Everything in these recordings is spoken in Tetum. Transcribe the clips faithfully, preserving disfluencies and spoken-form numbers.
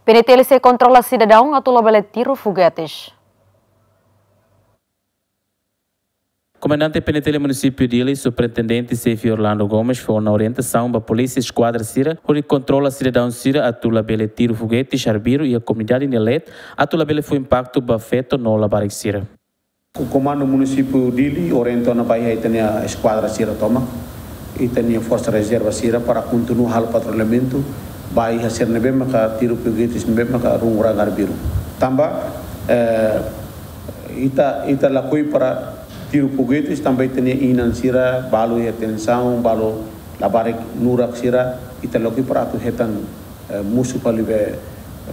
PNTL sei kontrola sidadaun atu labele tiru fogetes. Komandante PNTL Munisípiu Dili, Superintendente Xefe Orlando Gomes, fó ona orientasaun ba polísia eskuadra sira hodi kontrola sidadaun sira atu labele tiru fogetes arbiru iha komunidade nia leet, atu labele fó impaktu ba feto no labarik sira. Ko-, Komandu Munisípiu Dili orienta ona ba iha ita-nia eskuadra sira tomak, ita-nia forsa rezerva sira para kontinua halo patrullamentu ba iha sira ne'ebé maka tiru fogetes ne'ebé maka rungu-ranga arbiru. Tanba, eh, ita, ita lakohi para tiru fogetes tanba ita-nia inan sira balu iha tensaun, balu labarik nurak sira, ita lakohi para atu hetan, eh, mosu fali be,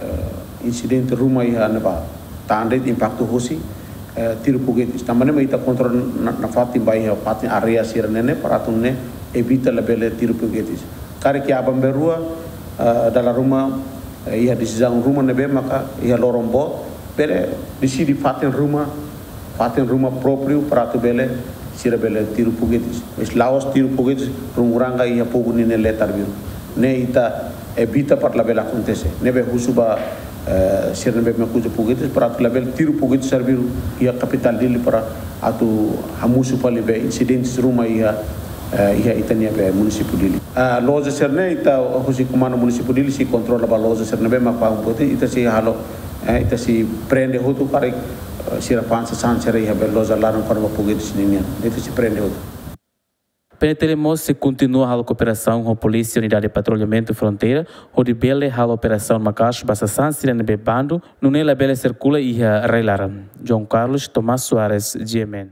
eh, insidente ruma iha ne'ebá. Tan de'it impaktu husi, eh, tiru fogetes. Tanba ne'e mak ita kontrola na, nafatin ba iha fatin área sira-ne'e ne'e para atu nune'e evita labele tiru fogetes. Karik iha aban-bainrua, eh, dala ruma, eh, iha desizaun ruma ne'ebé maka iha loron boot, bele deside fatin ruma, fatin ruma própriu para atu bele, sira bele tiru fogetes. Mas la'ós tiru fogetes rungu-ranga iha povu ninia leet arbiru. Ne'e ita evita para labele akontese. Ne'ebé husu ba, eh, sira ne'ebé mak uza fogetes para atu labele tiru fogetes arbiru iha kapitál Dili para atu hamosu fali be insidentes ruma iha, eh, iha ita-nia be Munisípiu Dili. Ah, loja sira-ne'e ita husi Komandu Munisípiu Dili sei kontrola ba loja sira ne'ebé mak fa'an fogetes, ita sei halo, eh, ita sei prende hotu karik, eh, sira fa'an sasán sira iha be loja laran kona-ba fogetes ninian. Ita sei prende hotu. PNTL mós sei kontinua halo kooperasaun ho Polísia Unidade Patrullamentu Fronteira, hodi bele halo operasaun maka'as ba sasán sira ne'ebé bandu, nune'e labele sirkula iha rai-laran. João Carlos, Tomás Soares, G M N.